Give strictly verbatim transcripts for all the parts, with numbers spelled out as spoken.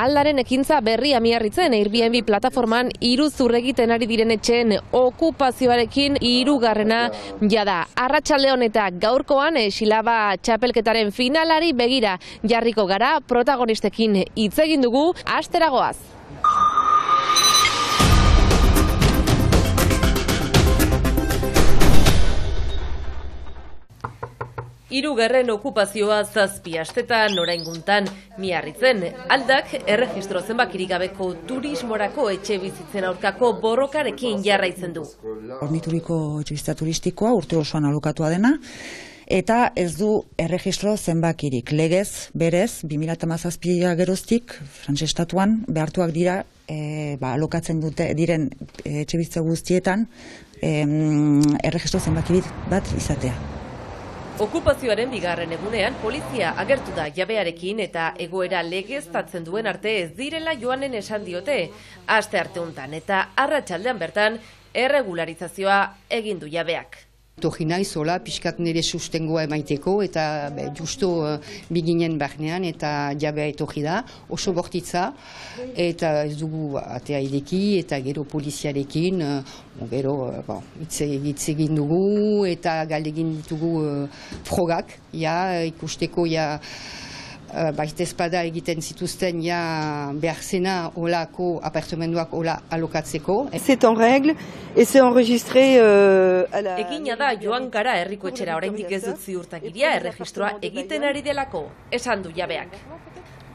aldaren ekintza berria miarritzen Airbnb plataforman iruzur egiten ari diren etxeen okupazioarekin hirugarrena jada. Arratsalde eta gaurkoan Xilaba txapelketaren finalari begira jarriko gara, protagonistekin hitz egin dugu, asteragoaz. Hirugarren okupazioa zazpi astetan orainguntan miarritzen. Aldak erregistro zenbakirik gabeko turismorako etxe bizitzen aurkako borrokarekin jarraitzen du. Hornituriko etxebizitza turistikoa urte osoan alokatua dena, eta ez du erregistro zenbakirik. Legez, berez, bi mila hamazazpia geroztik, Frantses estatuan, behartuak dira e, ba, alokatzen dute diren etxebizitza guztietan e, erregistro zenbakirik bat izatea. Okupazioaren bigarren egunean polizia agertu da jabearekin eta egoera legeztatzen duen arte ez direla joanen esan diote. Aste arte hontan eta arratsaldean bertan erregularizazioa egin du jabeak. Torri naiz, hola, pixkat nire sustengoa emaiteko eta be, justo uh, biginen barnean eta jabea etorri da, oso bortitza eta ez dugu atea ideki eta gero poliziarekin, uh, gero uh, hitz egin dugu eta galdegin ditugu uh, frogak, ja, ikusteko ja, Uh, baita espada egiten zituzten ja behar zena olako apartamenduak ola alokatzeko. C'est en règle et c'est enregistré euh, à la... Egina da joan gara herriko etxera oraindik ez dut ziurtagiria erregistroa egiten ari delako, esan du jabeak.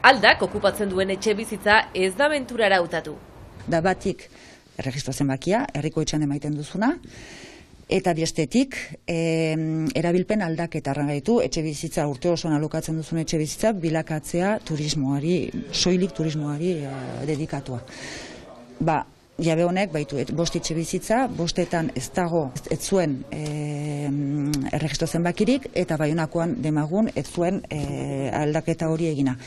Aldak okupatzen duen etxe bizitza ez da benturara hautatu. Da batik erregistro zenbakia, herriko etxean emaiten duzuna, eta bestetik, e, erabilpen aldaketa gaitu, etxe bizitza urte osoan alokatzen duzun etxe bizitza bilakatzea turismoari, soilik turismoari e, dedikatua. Ba, jabe honek baitu et, bost etxe bizitza, bostetan ez dago ez zuen e, erregistro zenbakirik, eta Baionakoan demagun ez zuen e, aldaketa hori egina.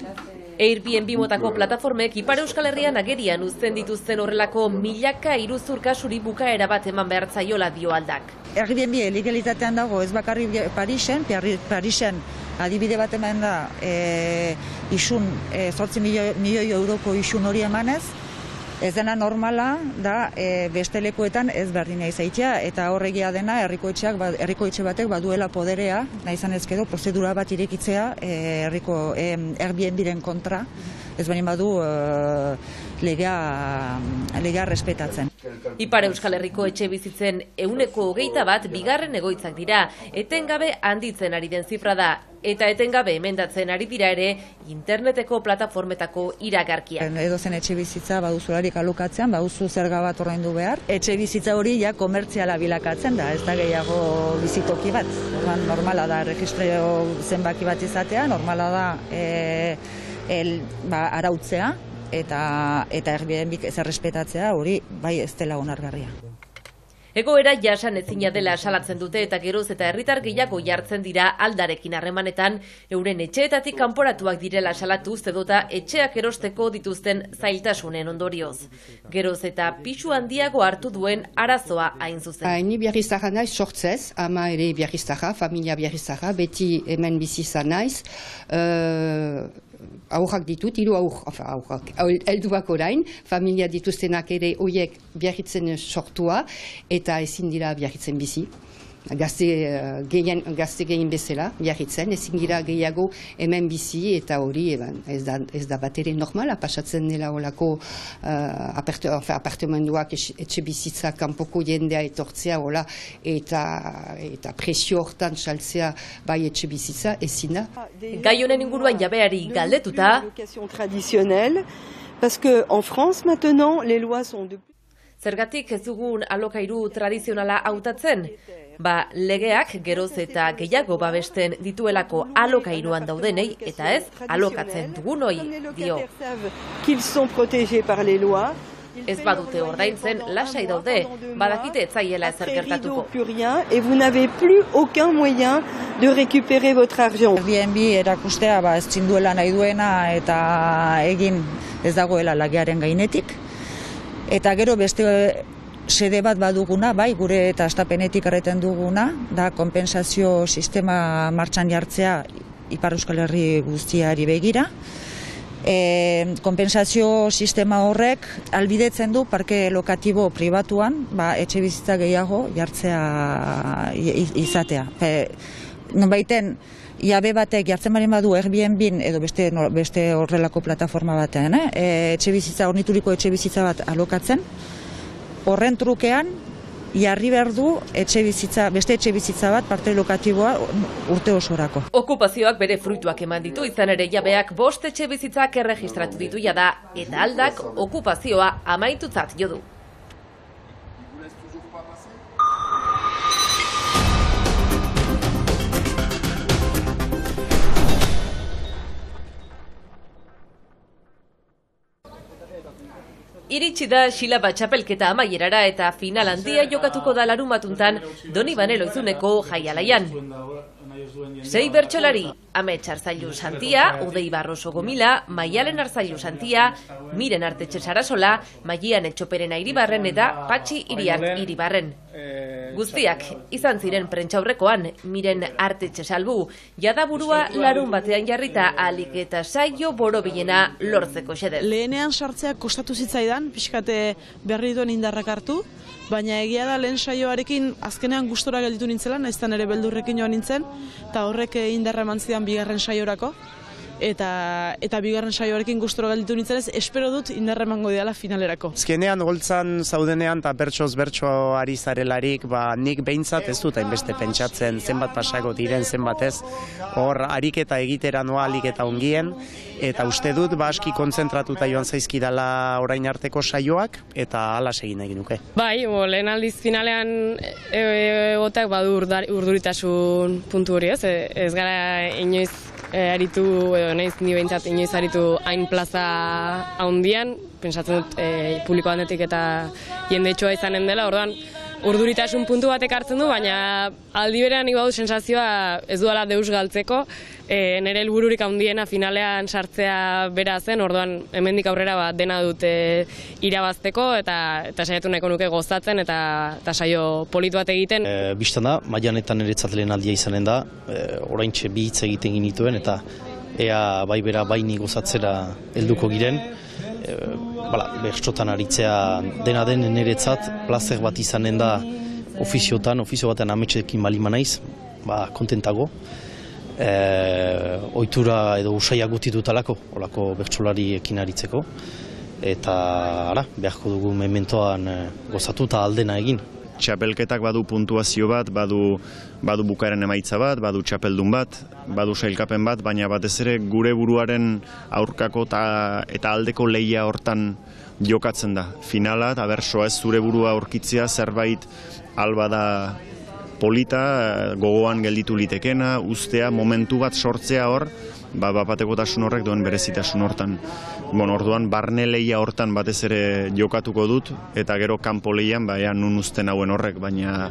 Airbnb motako plataformek Ipar Euskal Herrian agerian uzten dituzten horrelako milaka iruzur kasuri bukaera bat eman behar zaiola dio Aldak. Airbnb legalitatean dago ez bakarrik Parisen, Parisen adibide bat eman da e, isun, e, zortzi milioi euroko isun hori emanez, ez dena normala da e, beste lekuetan ez berdina izaitea eta horregia dena herriko etxeak herriko etxe batek baduela poderea, nahi izan ez edo prozedura bat irekitzea e, herriko e, Airbnb-ren kontra, ez baldin badu e, legea legea respetatzen. Ipar Euskal Herriko etxe bizitzen ehuneko hogeita bat bigarren egoitzak dira, etengabe handitzen ari den zifra da. Eta etengabe emendatzen ari dira ere interneteko plataformetako iragarkia. Edo zen etxe bizitza baduzularik alokatzean, baduzu zerga bat ordaindu behar. Etxe bizitza hori ja komertziala bilakatzen da, ez da gehiago bizitoki bat. Orduan normala da erregistro zenbaki bat izatea, normala da e, el, ba, arautzea eta eta Airbnb ez errespetatzea, hori bai ez dela onargarria. Egoera jasan ezina dela salatzen dute eta geroz eta herritar gehiago jartzen dira Aldarekin harremanetan, euren etxeetatik kanporatuak direla salatuz edota etxeak erosteko dituzten zailtasunen ondorioz. Geroz eta pisu handiago hartu duen arazoa hain zuzen. Ni Biarriztarra naiz sortzez, ama ere Biarriztarra, familia Biarriztarra, beti hemen bizi izan naiz. Uh, aurrak ditut, hiru aur, aurrak, helduak orain, familia dituztenak ere hoiek Biarritzen sortua, eta ezin dira Biarritzen bizi. Gazte gehien, gazte gehien bezala, Biarritzen, ezin dira gehiago hemen bizi, eta hori ez da, ez da bat ere normala, pasatzen dela olako uh, aparte, apartamenduak etxe bizitza kanpoko jendea etortzea, hola, eta, eta presio hortan saltzea bai etxe bizitza, ezin da. Gai honen inguruan jabeari galdetuta, parce que en France maintenant les lois sont de zergatik ez dugun alokairu tradizionala hautatzen? Ba, legeak geroz eta gehiago babesten dituelako alokairuan daudenei eta ez alokatzen dugunoi, dio. Ez badute ordaintzen lasai daude, badakite ez zaiela ezer gertatuko. Et vous n'avez plus aucun moyen de récupérer votre argent. Airbnb erakustea ba ez duela nahi duena eta egin ez dagoela lagearen gainetik. Eta gero beste sede bat baduguna, bai, gure eta astapenetik erreten duguna, da konpentsazio sistema martxan jartzea Ipar Euskal Herri guztiari begira. E, konpentsazio sistema horrek albidetzen du parke lokatibo pribatuan ba, etxe bizitza gehiago jartzea izatea. E, nonbaiten, jabe batek jartzen baren badu Airbnb edo beste, beste horrelako plataforma batean, eh? E, etxe bizitza, ornituriko etxe bizitza bat alokatzen, horren trukean, jarri behar du etxe bizitza, beste etxe bizitza bat parte lokatiboa urte osorako. Okupazioak bere fruituak eman ditu, izan ere jabeak bost etxe bizitzak erregistratu ditu jada, eta aldak okupazioa amaitutzat jo du. Iritsi da Xilaba txapelketa amaierara eta final handia jokatuko da larumatuntan Donibane Loizuneko jaialaian. Sei bertsolari, Amets Arzailu Santia, Udei Barroso Gomila, Maialen Arzailu Santia, Miren Artetxe Sarasola, Maian Etxoperen Iribarren eta Patxi Iriart Iribarren. Guztiak izan ziren prentxaurrekoan, Miren Artetxe Salbu, jada burua larun batean jarrita alik eta saio borobilena lortzeko xedez. Lehenean sartzeak kostatu zitzaidan, pixkate berri duen indarrak hartu, baina egia da lehen saioarekin azkenean gustora gelditu nintzela, naiztan ere beldurrekin joan nintzen, eta horrek indarra eman zidan bigarren saiorako, eta eta bigarren saioarekin gustora gelditu nintzen ez, espero dut indarra emango diala finalerako. Azkenean holtzan zaudenean eta bertsoz bertso ari zarelarik, ba, nik behintzat ez dut hainbeste pentsatzen zenbat pasako diren zenbat ez, hor ariketa egitera noa alik eta ongien, eta uste dut ba aski kontzentratuta joan zaizkidala orain arteko saioak, eta hala egin egin nuke. Bai, bo, lehen aldiz finalean egotak badu urduritasun puntu hori ez, ez gara inoiz E, aritu, edo nahiz ni behintzat inoiz aritu hain plaza haundian, pentsatzen dut e, publiko handetik eta jendetxoa izanen dela, orduan urduritasun puntu batek hartzen du, baina aldi berean nik badu sensazioa ez duela deus galtzeko, e, nire helbururik handiena finalean sartzea bera zen, orduan hemendik aurrera ba, dena dut e, irabazteko eta, eta saiatu nahiko nuke gozatzen eta, eta saio polit bat egiten. E, Bistan da, maianetan niretzat lehen aldia izanen da, e, oraintxe bi hitz egiten ginituen eta ea bai bera baini gozatzera helduko giren. E, bala, bertsotan aritzea dena den niretzat, plazer bat izanen da ofiziotan, ofizio batean ametsekin balima naiz, ba, kontentago. E, ohitura edo usaia gutitutalako, olako bertsolariekin aritzeko. Eta, ara, beharko dugu mementoan e, gozatu eta aldena egin. Txapelketak badu puntuazio bat, badu, badu bukaeren emaitza bat, badu txapeldun bat, badu sailkapen bat, baina batez ere gure buruaren aurkako ta, eta aldeko lehia hortan jokatzen da. Finala eta bersoa ez zure burua aurkitzea zerbait alba da polita, gogoan gelditu litekena, ustea, momentu bat sortzea hor, ba, bapatekotasun horrek duen berezitasun hortan. Bon, orduan, barne lehia hortan batez ere jokatuko dut, eta gero kanpo lehian, ba, ea nun uzten hauen horrek, baina,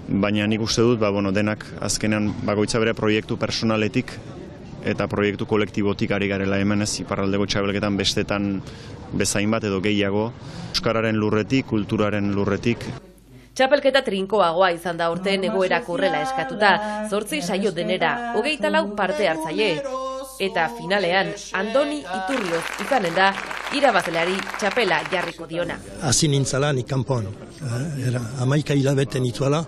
baina nik uste dut, ba, bueno, denak azkenean bakoitza bere proiektu personaletik eta proiektu kolektibotik ari garela hemen ez, iparraldeko txabelketan bestetan bezain bat edo gehiago, euskararen lurretik, kulturaren lurretik. Txapelketa trinkoagoa izan da urte egoerak horrela eskatuta, zortzi saio denera, hogeita lau parte hartzaile. Eta finalean, Andoni Iturrioz izanen da, irabazleari txapela jarriko diona. Hasi nintzala nik kanpoan, era hamaika hilabete nituela,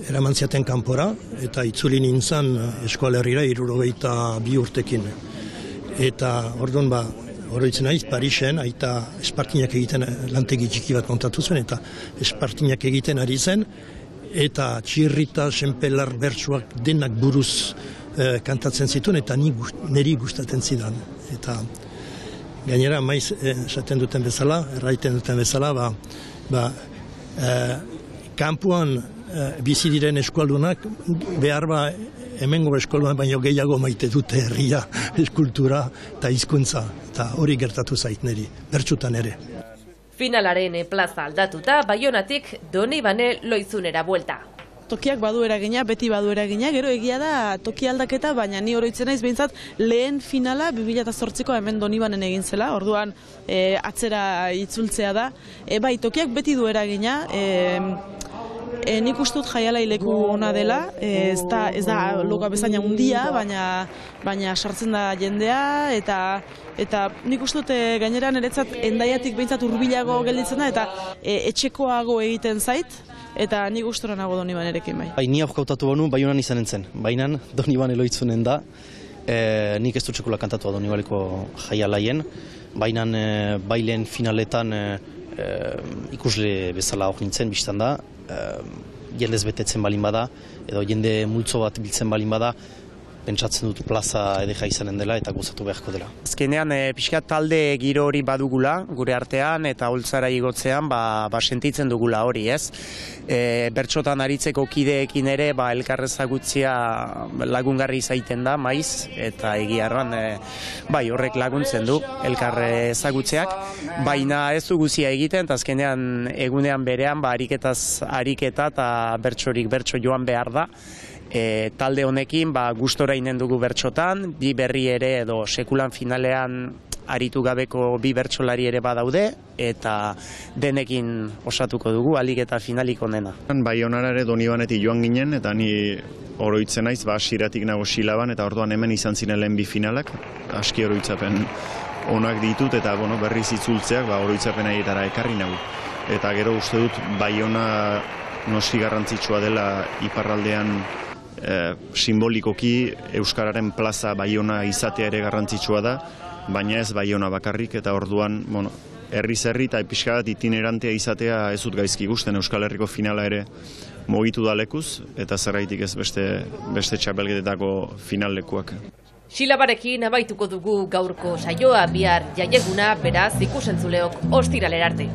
eraman ziaten kanpora, eta itzuli nintzen eskualerrira hirurogeita bi urtekin. Eta orduan ba, oroitzen naiz, Parisen, aita espartinak egiten lantegi txiki bat kontatu zuen, eta espartinak egiten ari zen, eta txirrita, senpelar, bertsuak denak buruz eh, kantatzen zituen, eta niri gustatzen zidan. Eta gainera, maiz esaten duten bezala, erraiten duten bezala, ba, ba, eh, kanpuan eh, bizi diren eskualdunak, behar ba, hemengo eskolduan baino gehiago maite dute herria, eskultura eta hizkuntza, eta hori gertatu zait niri, bertsutan ere. Finalaren plaza aldatuta, Baionatik Donibane Loizunera buelta. Tokiak badu eragina, beti badu eragina, gero egia da toki aldaketa, baina ni oroitzen naiz behintzat lehen finala bi mila zortziko hemen Donibanen egin zela, orduan e, atzera itzultzea da. E, bai, tokiak beti du eragina, e, E, nik uste dut jaialai leku ona dela, e, ez da, ez da loka bezaina handia, baina, baina sartzen da jendea, eta eta nik uste dut e, gainera niretzat Hendaiatik behintzat hurbilago gelditzen da, eta e, etxekoago egiten zait, eta nik gustora nago Donibanerekin bai. Bai, ni aurkautatu banu, Baionan izanen zen, baina Doniban eloitzunen da, e, nik ez dut sekula kantatua Donibaleko jaialaien, baina e, bailen finaletan e, e, ikusle bezala hor nintzen, biztan da, e, jendez betetzen balin bada, edo jende multzo bat biltzen balin bada, pentsatzen dut plaza edeja izanen dela eta gozatu beharko dela. Azkenean, e, pixka talde giro hori badugula, gure artean, eta holtzara igotzean, ba, ba sentitzen dugula hori, ez? E, bertsotan aritzeko kideekin ere, ba, elkarrezagutzia lagungarri izaiten da, maiz, eta egiarran, e, bai, horrek laguntzen du, elkarrezagutzeak, baina ez du guzia egiten, eta azkenean egunean berean, ba, ariketaz ariketa, eta bertsorik bertso joan behar da. E, talde honekin ba, gustora inen dugu bertsotan, bi berri ere edo sekulan finalean aritu gabeko bi bertsolari ere badaude, eta denekin osatuko dugu, alik eta finalik onena. Baionara ere Donibanetik joan ginen, eta ni oroitzen naiz, ba, siratik nago Silaban, eta orduan hemen izan ziren lehen bi finalak, aski oroitzapen onak ditut, eta bueno, berriz itzultzeak ba, oroitzapen aietara ekarri nago. Eta gero uste dut Baiona noski garrantzitsua dela iparraldean e, simbolikoki Euskararen plaza Baiona izatea ere garrantzitsua da, baina ez Baiona bakarrik, eta orduan, bueno, herriz herri eta pixka bat itinerantea izatea ez dut gaizki gusten. Euskal Herriko finala ere mugitu da lekuz, eta zerraitik ez beste, beste txapelketetako finallekuak. Silabarekin abaituko dugu gaurko saioa, bihar jaieguna, beraz ikusentzuleok ostiralera arte.